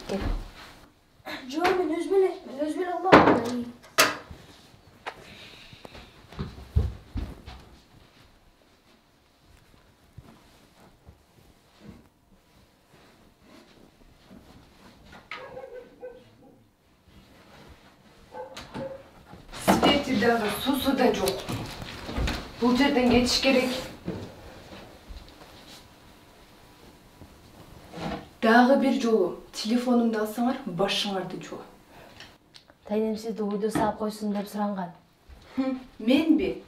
Кел. Жок, мен өз беле албадым. Свети дагы, сусу да жок. Бул жерден кетиш керек. Дагы бир жолу телефонумду алсаңар, башыңарды жуа. Тайнем сизди уйду саап койсун деп суранган. Менби?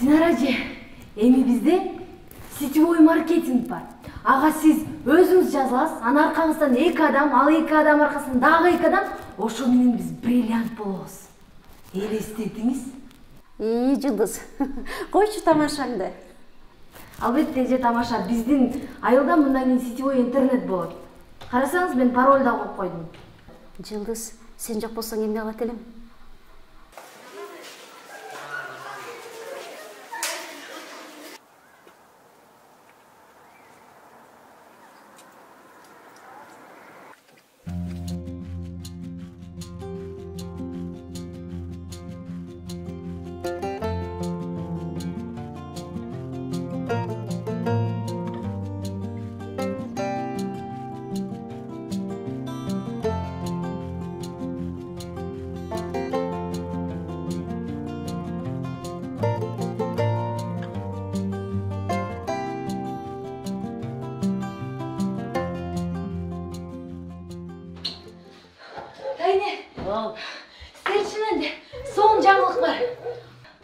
Динара эже, эми бизде сетевой маркетинг бар. Ага сиз өзүңүз жазыласыз, анын аркаңыздан 2 адам, ал 2 адам аркасынан дагы 2 адам, ошол менен биз бриллиант болобуз. Элестетиңиз? Жылдыз. Койчу тамашаңды. Албетте эже тамаша, биздин айылда мындан кийин сетевой интернет болот. Карасаңыз, мен пароль да коюп койдум. Жылдыз, сен жок болсоң эмне кылат элем?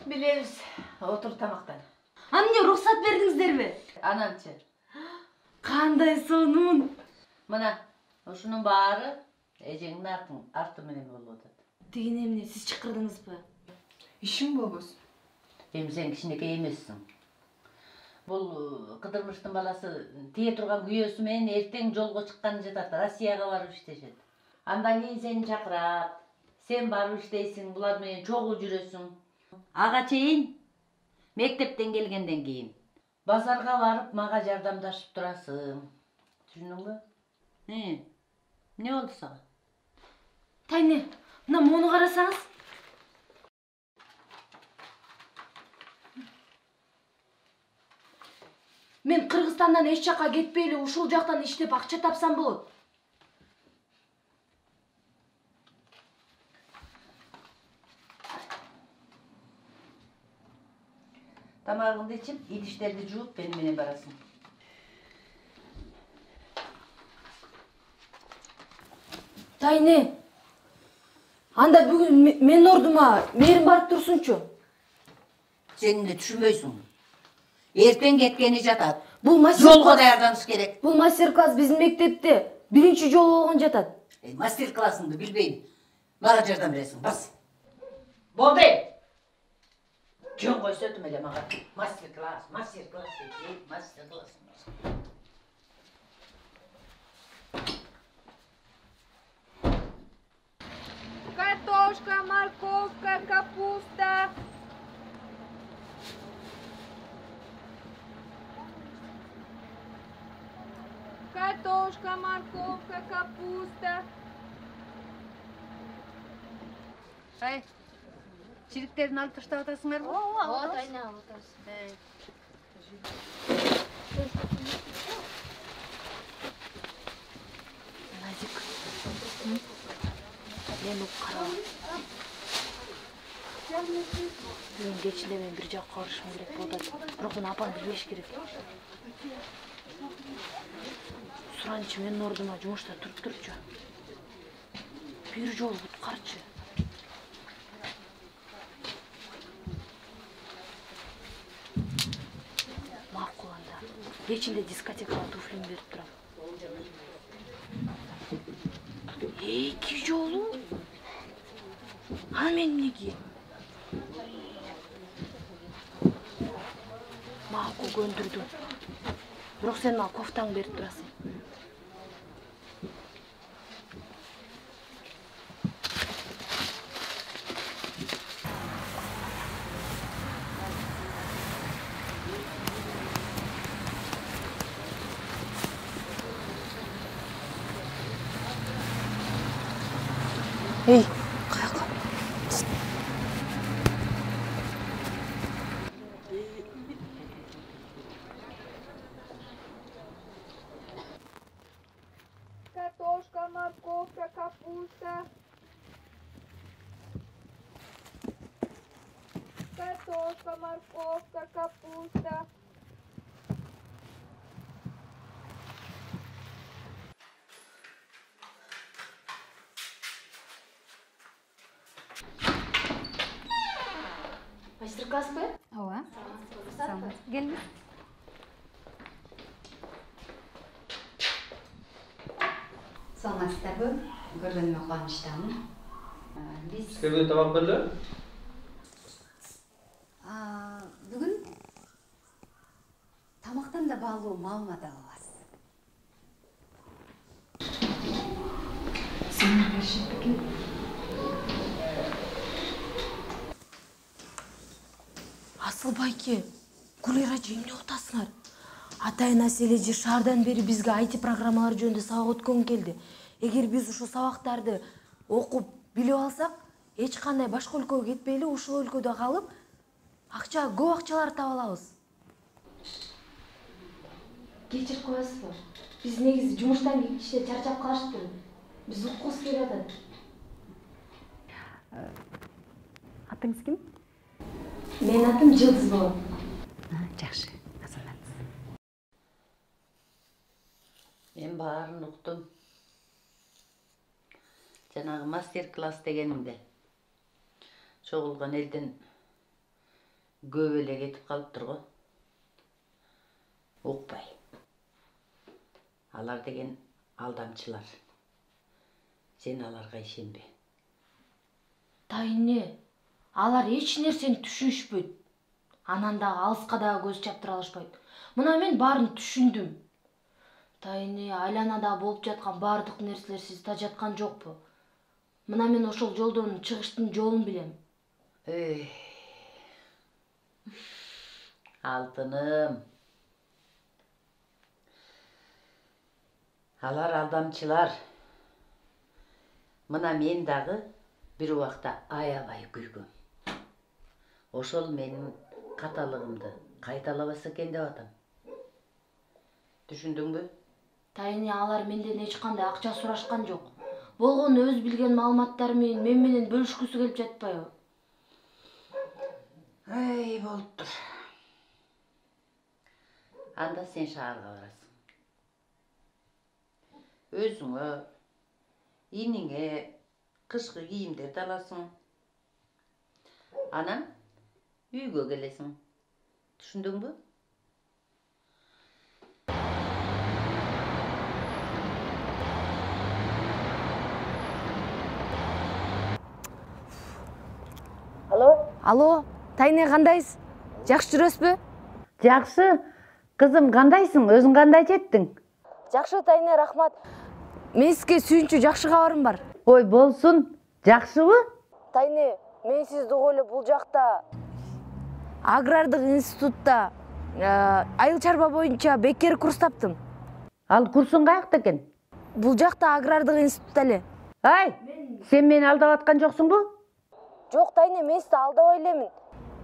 Билебиз. Отур тамактан. Эмне уруксат бердиңиздерби? Ананчы. Кандай сонун. Мына, ушунун баары эжеңдин арты менен болуп атат. Деген эмне, сиз чакырдыңызбы? Ишиң болбосун. Эми сен кичинекей эмессиң. Бул Кыдырмыштын баласы тие турган күйөөсү менен эртең жолго чыкканы жатат, Россияга барып иштешет. Андан кийин сени чакырат. Сен барып иштейсиң, булар менен чогуу жүрөсүң. Ага чейин мектептен келгенден кийин базарга барып мага жардамдашып турасың. Түшүндүңбү? Эмне болду сага? Тайне, мына мону карасаңыз. Мен Кыргызстандан эч жакка кетпей эле ушул жактан иштеп акча тапсам болот. Тамагыңды ичип, идиштерди жууп, мени менен барасың. Тайне, анда бүгүн менин ордума Мээрим барып турсунчу. Сен эмне түшүнбөйсүң? Эртең кеткени жатат. Бул жолго даярданыш керек. Бул мастер-класс биздин мектепте биринчи жолу болгон жатат. Мастер-классыңды билбейм. Мага жардам бересиң, бас. Болду. Жөн койсотум эле мага. Мастер-класс дейт, мастер-класс. Картошка, морковка, капуста. Картошка, морковка, капуста. Ай, чириктерин алып таштап атасыңарбы? Вот, айна, вот. Назик. Мени кара. Мен кечинде мен бир жакка барышым керек болду. Бирок муну апам билбеш керек. Суранчы менин ордума жумушта туруп турчу. Бир жолу куткарчы. Макул анда. Кечинде дискотекага туфлимди берип турам. 2 жолу? Аны мен эмне кийем? Макул көндүрдүм. Бирок сен мага кофтаңды берип турасың. Эй, каяка? Картошка, морковка, капуста. Картошка, морковка, капуста. Мастер-класспы? Ооба. Саламат. Келиңиз. Саламатсыздарбы? Көргөнүмө кубанычтамын. Биз Сизге бүгүн тамак берилеби? бүгүн тамактан да баалуу маалымат алабыз. Асыл байке, Гулира эже эмне отасыңар? Атайын Асель эже шаардан бери бизге IT программалар жөнүндө сабак өткөнгө келди. Эгер биз ушул сабактарды окуп, билип алсак, эч кандай башка өлкөгө кетпей эле ушул өлкөдө калып, көп акчалар таба алабыз. Кечирип коесузбу? Биз негизи жумуштан кийинче чарчап калыштыр. Биз уккубуз келип атат. Атыңыз ким? Менин атым Жылдыз болот. Жакшы. Азамат. Мен баарын уктум. Жанагы мастер-класс дегенимде чогулган элден көп эле кетип калыптыр го. Укпай. Алар деген алдамчылар. Сен аларга ишенбе. Тайне, алар эч нерсени түшүнүшпөйт. Анан дагы алыска дагы көз чаптыра алышпайт. Мына мен баарын түшүндүм. Тайне, айланада болуп жаткан баардык нерселер сиз тажаткан жокпу? Мына мен ошол жолдон чыгыштын жолун билем. Алтыным. Алар алдамчылар. Мына мен дагы бир убакта аябай күлгөм. Ошол менин каталыгымды кайталабаса экен деп атам. Түшүндүңбү? Тайне, алар менден эч кандай акча сурашкан жок. Болгону өз билген маалыматтары мен менен бөлүшкүсү келип жатпайбы? Болуптур. Анда сен шаарга барасың. Өзүңө, иниңе кышкы кийимдерди аласың. Анан үйгө келесиң. Түшүндүңбү? Алло, Тайне, кандайсыз? Жакшы жүрөсүзбү? Жакшы. Кызым, кандайсың? Өзүң кандай жеттиң? Жакшы, Тайне, рахмат. Мен сизге сүйүнчү жакшы кабарым бар. Ой, болсун. Жакшыбы? Тайне, мен сизди угуп эле бул жакта агрардык институтта айыл чарба боюнча бекер курс таптым. Ал курсуң каякта экен? Бул жакта агрардык институтта эле. Ай, сен мени алдап аткан жоксуңбу? Жок, Тайне, мен сизди алдабай элемин.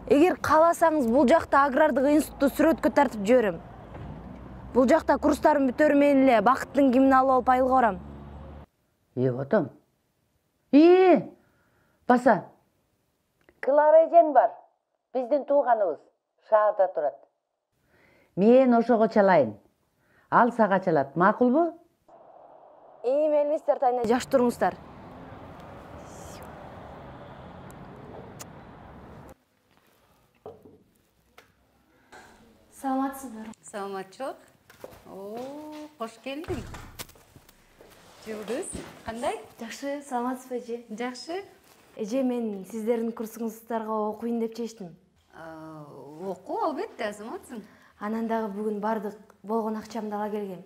Эгер кааласаңыз, бул жакта агрардык институтта сүрөткө тартып жиберем. Бул жакта курстарым бүтөр менен эле бакыттын кимин алып алып айылга барам. Отом. Баса. Клара эжең бар. Биздин тууганыбыз. Шаарда турат. Мен ошого чалайын. Ал сага чалат. Макулбу? Мелиңиздер, Тайне, жакшы туруңуздар. Саламатсызбы? Саламатчылык. Кош келдиң. Жылдыз, кандай? Жакшы, саламатсызбы эже? Жакшы. Эже, мен сиздердин курсуңуздарга окуйын деп чечтим. Оку, албетте, азаматсың. Анан дагы бүгүн бардык болгон акчамды ала келгем.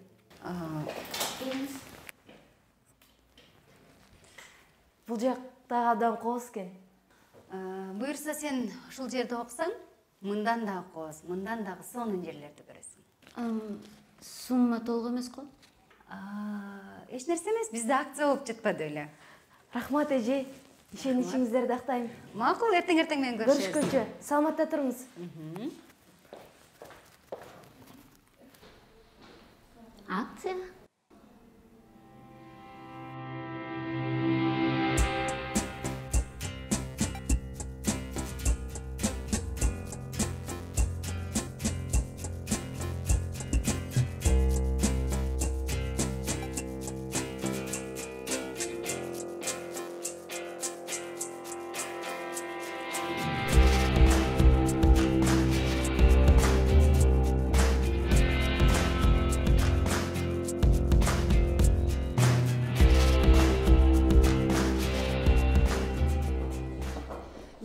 Бул жактагы абдан кооз экен. Буюрса сен ушул жерде окусаң, мындан дагы кооз, мындан дагы сонун жерлерди көрөсүң. Сумма толук эмес го? Эч нерсе эмес, бизде акция болуп жатпады эле. Рахмат эже, ишеничиңиздерди актайм. Макул, эртең менен көрүшөбүз. Көрүшкөнчө, саламатта туруңуз. Акция?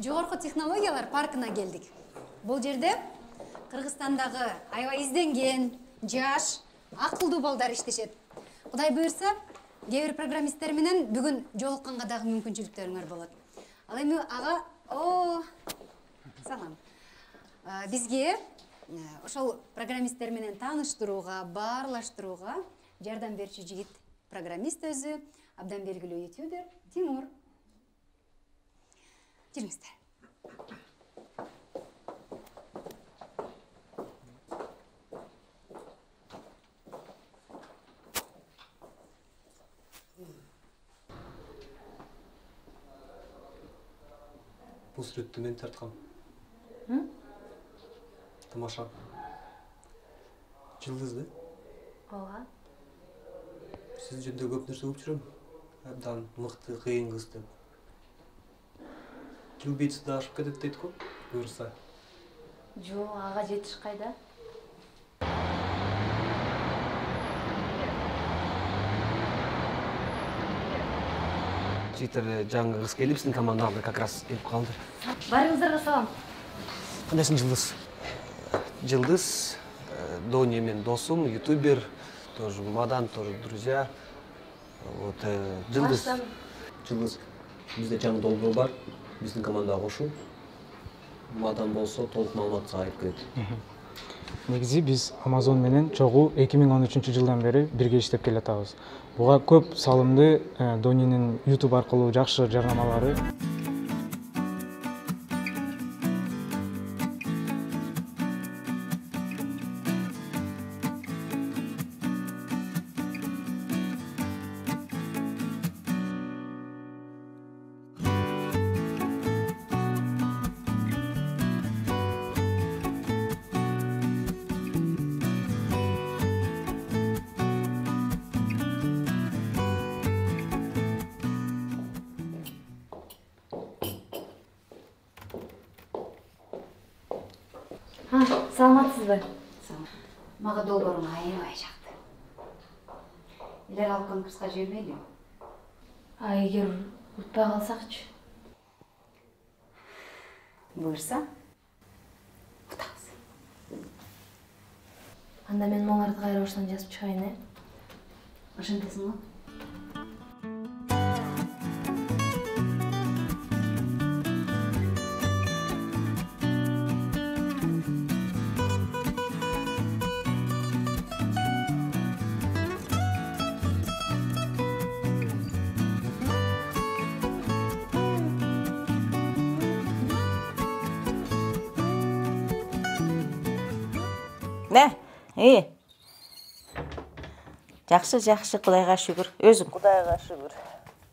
Жогорку технологиялар паркына келдик. Бул жерде Кыргызстандагы аябай изденген, жаш, акылдуу балдар иштешет. Кудай буйрса, кээ бир программисттер менен бүгүн жолукканга дагы мүмкүнчүлүктөрүңөр болот. Ал эми ага, салам. Бизге ошол программисттер менен тааныштырууга, баарлаштырууга жардам берчү жигит программист өзү, абдан белгилүү ютубер Тимур. Жүрүңүздөр. Бул сүрөттү мен тарткам. Тамаша. Жылдызды. Ооба. Сиз жөнүндө көп нерсе угуп жүрөм. Абдан мыкты, кыйын кыз деп. Любийцы да ашып кетет дейт го, буюрса. Жок, ага жетиш кайда? Жигиттер жаңы кыз келип, биздин командага как раз келип калды. Барыңыздарга салам. Кандайсың, Жылдыз? Жылдыз, Доня мен досум, ютубер, тоже Мадан, тоже друзья. Вот, Жылдыз. Жылдыз, бизде жаңы долбоор бар. Биздин командага кошул. Мадан болсо толук маалымат айып кетет. Негизи биз Amazon менен чогуу 2013 жылдан бери бирге иштеп келатабыз. Буга көп салымды Донинин YouTube аркылуу жакшы жарнамалары. Саламатсызбы? Мага долбооруң аябай жакты. Илер алып конкурска жибермейли? Эгер утпай калсакчы? Буйрса, утабыз. Анда мен моңарды кайра баштан жазып чыгайын, Ошентесиң го? Жакшы, Кудайга шүгүр. Өзүң? Кудайга шүгүр.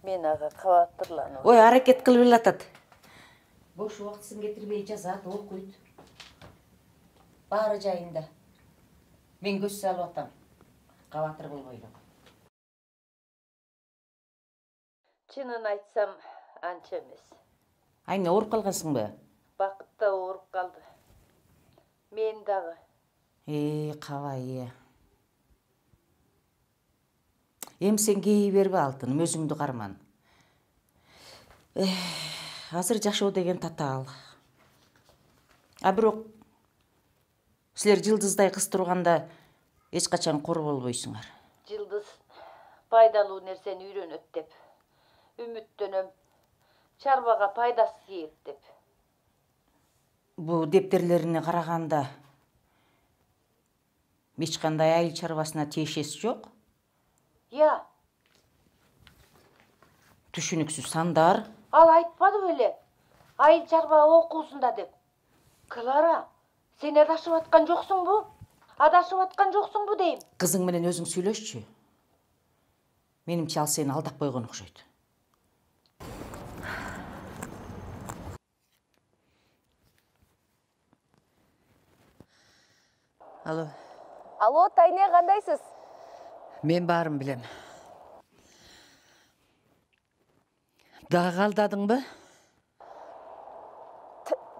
Мен ага кабаттырланып. Ой, аракет кылып элатат. Бош убактысын кетирбей жазат, окуйт. Баары жайында. Мен көз салып атам. Кабатыр болбойлу. Чынын айтсам, анча эмес. Айне ооруп калгансыңбы? Бакыт да ооруп калды. Мен дагы. Кабай. Эми сен кей бербе, алтыным, өзүңдү карман. Азыр жашоо деген татаал. А бирок Силер Жылдыздай кыз турганда эч качан кор болбойсуңар. Жылдыз пайдалуу нерсени үйрөнөт деп үмүттөнөм. Чарбага пайдасы тиет деп. Бу дептерлерине караганда эч кандай айыл чарбасына тиешеси жок. Я, Түшүнүксүз сандар. ал айтпады беле? Айыл чарба окуусунда деп. Клара, сен адашып аткан жоксуңбу? Адашып аткан жоксуңбу дейм. Кызың менен өзүң сүйлөшчү. Менимче ал сени алдап койгон окшойт. Алло. Алло, Тайне, кандайсыз? Мен баарын билем. Дагы алдадыңбы?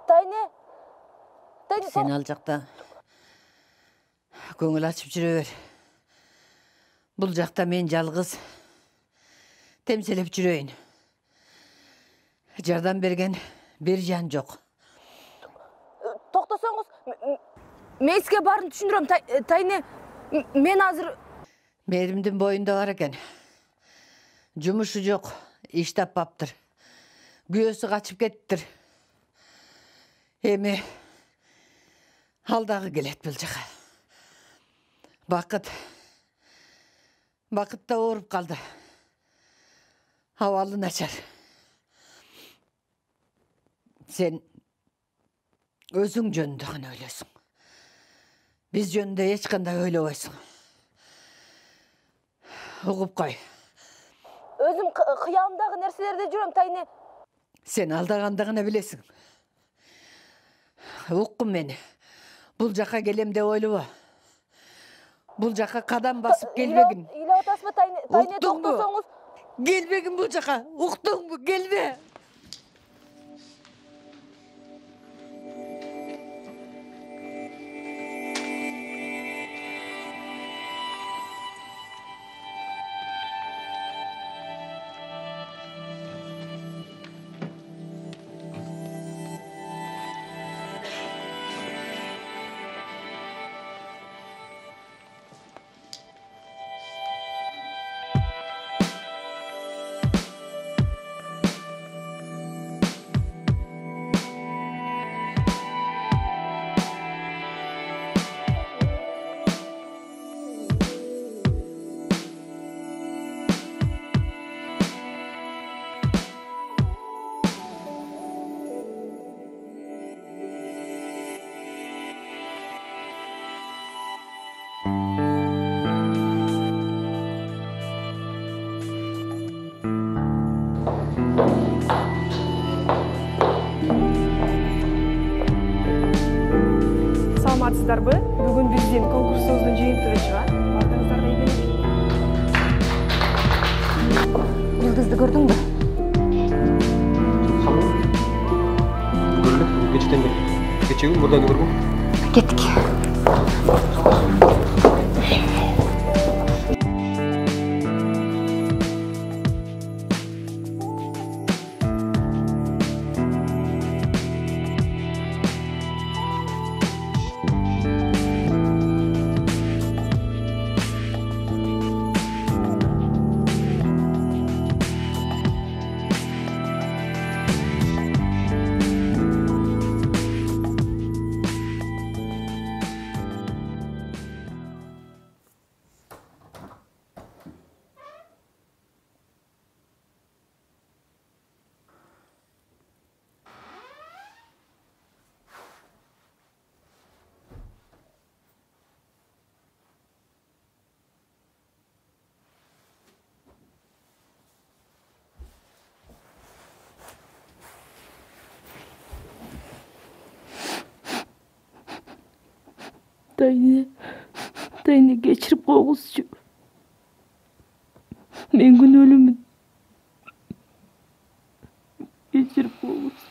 Тайне. Сен ал жакта көңүл ачып жүрө бер. Бул жакта мен жалгыз темселеп жүрөйүн. Жардам берген бир жан жок. Токтосоңуз, мен сизге баарын түшүндүрөм, Тайне. Мен азыр Мээримдин боюнда бар экен. Жумушу жок, иш таппаптыр. Күйөөсү качып кеттир. Эми ал дагы келет бул жака. Бакыт да ооруп калды. Абалы начар. Сен өзүң жөнүндө гана ойлойсуң. Биз жөнүндө эч кандай ойлобойсуң. Угуп кой. өзүм кыялымдагы нерселерде жүрөм, Тайне. Сен алдаганда гана билесиң. Уккун мени. Бул жака келем деп ойлобо. Бул жака кадам басып келбегин. Ыйлап атасызбы, Тайне, токтосоңуз. Келбегин бул жака. Уктуңбу? Келбе. Саламатсыздарбы? Бүгүн биздин конкурсубуздун жыйынтыгы чыгат. Бардыгыңыздарга ийгилик. Жылдызды көрдүңбү? Көрдүк, кечтен бери. Кечеги мурданы көргөм. Кеттик. Тайне кечирип койгузчу. Мен күнөөлүүмүн. Кечирип койгузчу.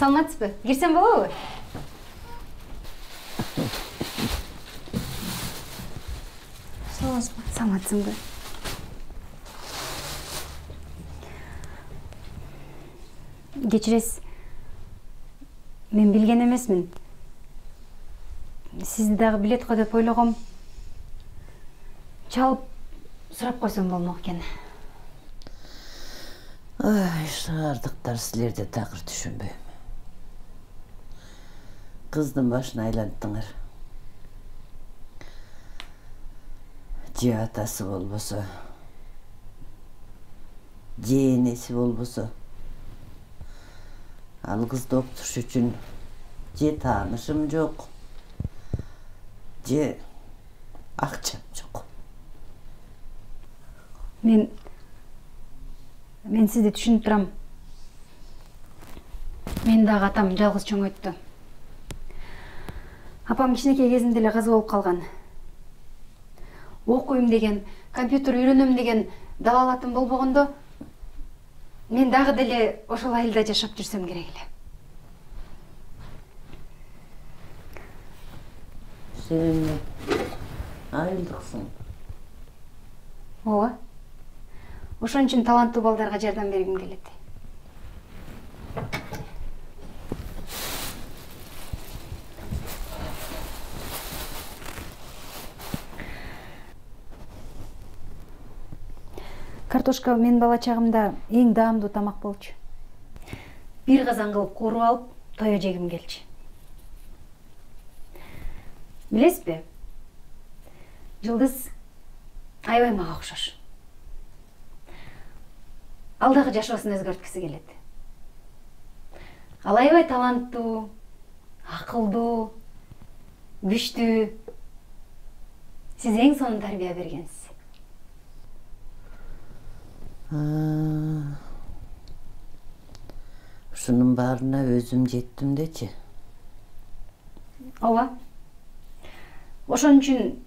Саламатсызбы? Кирсем болобу? Саламатсызбы? Саламатсыңбы? Кечиресиз. Мен билген эмесмин. Сизди дагы билет го деп ойлогом. Чалып сурап койсом болмок экен. Ай, шаардыктар силерде такыр түшүнбөйм. Кыздын башын айланттыңар. Же атасы болбосо, же энеси болбосо, ал кызды окутуш үчүн же таанышым жок, же акчам жок. Мен сизди түшүнүп турам. Мен дагы атам жалгыз чоңойтtu. Апам кичинекей кезинде эле каза болуп калган. Окуйм деген, компьютер үйрөнөм деген далалатым болбогондо, мен дагы деле ошол айылда жашап жүрсөм керек эле. Сен айылдыксың. Ооба. Ошон үчүн таланттуу балдарга жардам бергим келет. Картошка менин бала чагымда эң даамдуу тамак болчу. Бир казан кылып кууруп алып, тоё жегим келчү. Билесизби? Жылдыз аябай мага окшош. Ал дагы жашоосун өзгөрткүсү келет. Ал аябай таланттуу, акылдуу, күчтүү. Сиз эң сонун тарбия бергенсиз. Ушунун баарына өзүм жеттим дечи. Ооба. Ошон үчүн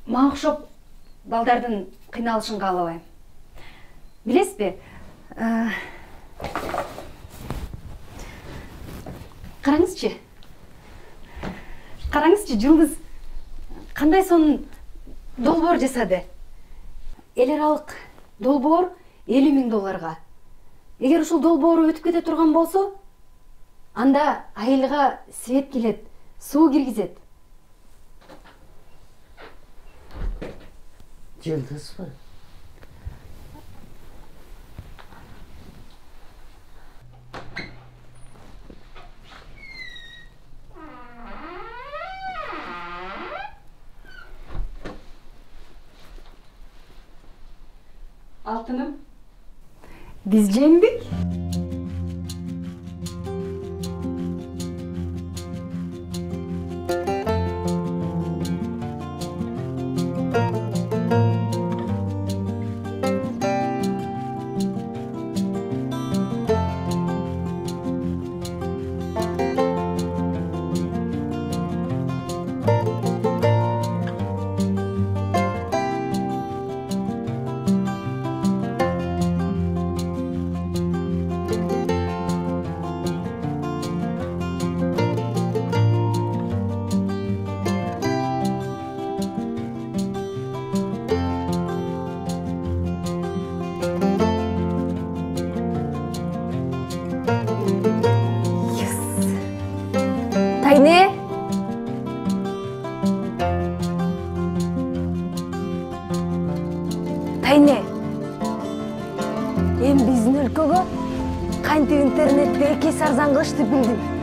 мага окшоп балдардын кыйналышын каалабайм. Билесизби? Караңызчы. Караңызчы, Жылдыз кандай сонун долбоор жасады. Эл аралык долбоор $50.000. Эгер ушул долбоору өтүп кете турган болсо, анда айылга свет келет, суу киргизет. Жылдызбы? Алтыным, биз жеңдик. Тайне. Тайне. Эми биздин өлкөгө кантип интернетти эки эсе арзан кылышты билдим.